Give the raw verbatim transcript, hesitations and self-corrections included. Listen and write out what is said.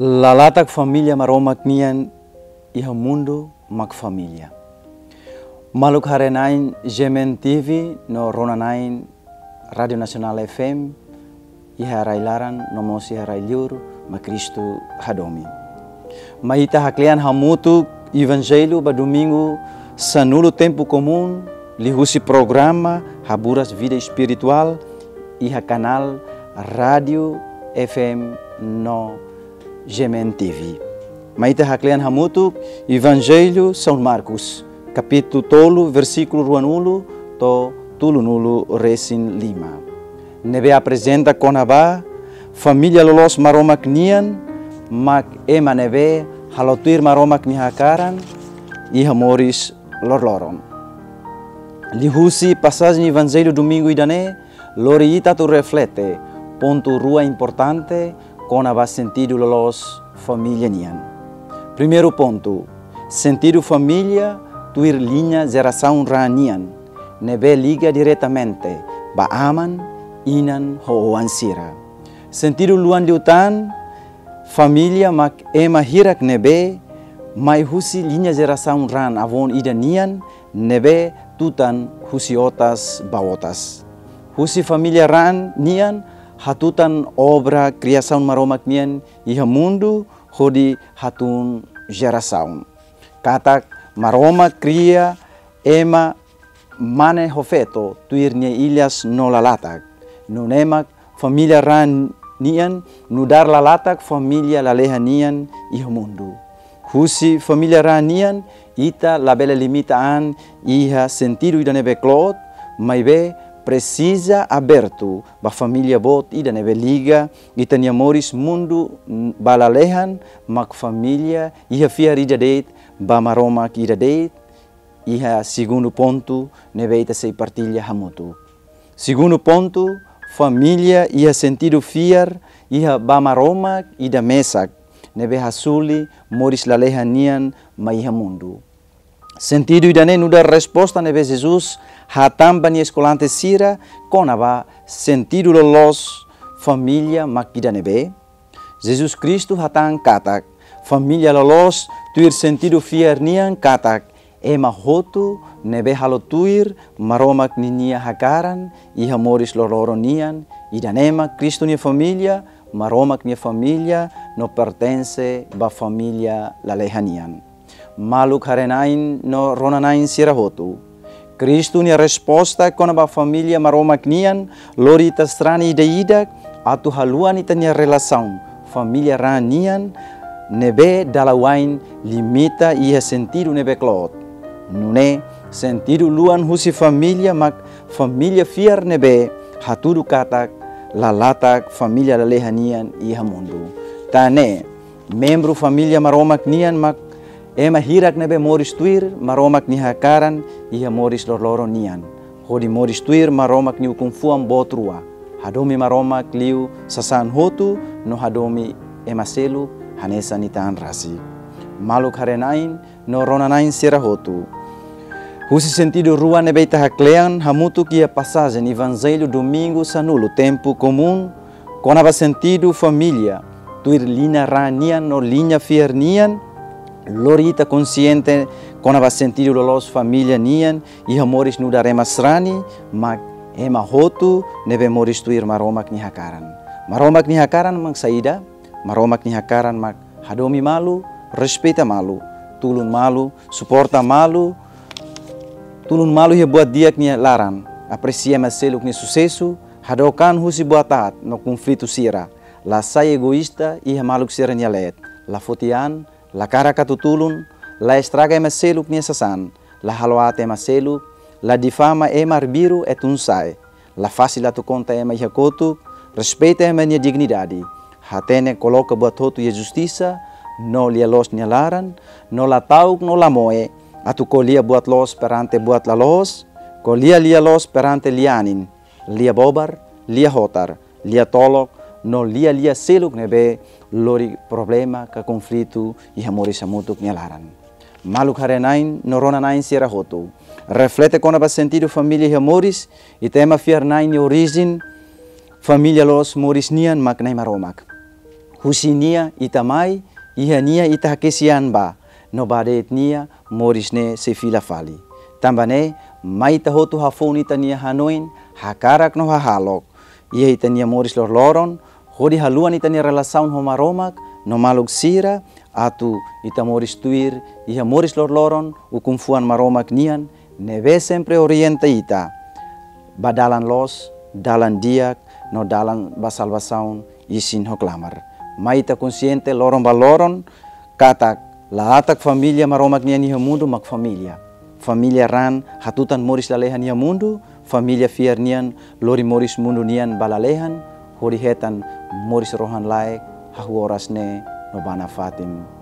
Lalatak família Maromak nian iha mundu mak família. Maluk haree-na'in G M N T V no rona-na'in Rádiu Nasionál F M, iha rai-laran no mós iha rai-liur mak Kristu hadomi. Mai ita haklean hamutuk Evanjellu ba Domingu sanulu Tempu Komún, liuhusi programa Haburas Vida Espirituál iha kanál Rádiu F M no G M N T V. Mai ita haklean hamutuk Evanjellu São Marcos, kapítulu tolu, versíkulu ruanulu to'o tolunulu-resin-lima. Ne'ebé aprezenta kona-ba família loloos Maromak nian, mak ema ne'ebé halo tuir Maromak nia hakaran iha moris loroloron. Liuhusi pasajen Evanjellu Domingu ida-ne'e, lori ita atu reflete pontu rua importante kona-ba sentidu loloos família nian. Primeiru pontu, sentidu família tuir liña jerasaun raan nian, ne'ebé liga diretamente ba aman, inan ho oan sira. Sentidu luan liután, família mak ema hirak ne'ebé mai husi liña jerasaun raan avó ida nian, ne'ebé tutan husi otas ba otas. Husi família raan nian hatutan obra kriasaun Maromak nian iha mundu hodi hatún jerasaun. Katak Maromak kria ema mane ho feto tuir nia ilas no lalatak. Nune'e mak família raan nian nu'udar lalatak família lalehan nian iha mundu. Husi família raan nian, ita labele limita an iha sentidu ida ne'ebé kloot, maibé presiza abertu ba família boot ida ne'ebé liga ita-nia moris mundu ba lalehan, mak família iha fiar ida de'it ba Maromak ida de'it, iha segundu pontu ne'ebé ita sei partilla hamutuk. Segundu pontu, família iha sentidu fiar iha ba Maromak ida mesak, ne'ebé hasuli moris lalehan nian mai iha mundu. Sentidu ida-ne'e nu'udar resposta ne'ebé Jesus hatán ba nia eskolante sira kona-ba sentidu loloos família mak ida ne'ebé. Jesus Kristu hatán katak, família loloos tuir sentidu fiar nian katak, ema hotu ne'ebé halo tuir Maromak ninia hakaran iha moris loroloron nian, ida-ne'e mak Kristu nia família, Maromak nia família, no pertense ba família lalehan nian. Maluk haree-na'in no rona-na'in sira hotu. Kristu nia resposta kona-ba família Maromak nian lori ita sarani ida-idak atu haluan ita-nia relasaun família raan nian ne'ebé dala wa'in limita iha sentidu ne'ebé kloot. Nune'e sentidu luan husi família mak família fiar ne'ebé hatudu katak lalatak família lalehan nian iha mundu. Tan ne'e, membru família Maromak nian mak ema hirak ne'ebé moris tuir Maromak nia hakaran iha moris loroloron nian. Hodi moris tuir Maromak nia ukun-fuan boot rua. Hadomi Maromak liu sasán hotu no hadomi ema seluk hanesan ita-nia an rasik. Maluk haree-na'in no rona-na'in sira hotu. Husi sentidu rua ne'ebé ita haklean hamutuk iha pasajen Evanjellu Domingu sanulu Tempu Komún, kona-ba sentidu família tuir liña raan nian no liña fiar nian, lori ita konxiente kona-ba sentidu loloos família nian iha moris nu'udar ema sarani, mak ema hotu ne'ebé moris tuir Maromak nia hakaran. Maromak nia hakaran mak saida? Maromak nia hakaran mak hadomi malu, respeita malu, tulun malu, suporta malu, tulun malu iha buat di'ak nia laran, apresia ema seluk nia susesu, hadook an husi buat aat no konflitu sira, la sai egoísta iha maluk sira-nia leet, la foti an, la hakarak atu tulun, la estraga ema seluk nia sasán, la halo aat ema seluk, la difama ema arbiru e tun-sa'e, la fasil atu konta ema iha kotuk, respeita ema nia dignidade, hatene koloka buat hotu iha justisa, no lia-loos nia laran, no la ta'uk no la moe atu ko'alia buat loos perante buat la loos, ko'alia lia-loos perante lia-anin, lia bobar, lia hotar, lia tolok, no lia-lia seluk ne'ebé lori problema ka konflitu iha moris hamutuk nia laran. Maluk haree-na'in no rona-na'in sira hotu. Reflete kona-ba sentidu família iha moris, ita ema fiar-na'in nia orijen família loloos moris nian mak Na'i Maromak. Husi nia ita mai, iha nia ita hakesi an ba, no ba de'it nia moris ne'e sei fila fali. Tanba ne'e, mai ita hotu hafoun ita-nia hanoin, hakarak no hahalok iha ita-nia moris loroloron, hodi haluha ita-nia relasaun ho Maromak no maluk sira, atu ita moris tuir iha moris loroloron ukun-fuan Maromak nian, ne'ebé sempre orienta ita ba dalan loos, dalan di'ak, no dalan ba salvasaun, isin ho klamar. Mai ita konsiente loron ba loron katak la atak família Maromak nian iha mundu mak família. Família raan hatutan moris lalehan iha mundu, família fiar nian lori moris mundu nian ba lalehan, hodi hetan moris rohan-laek, hahú oras ne'e no ba nafatin.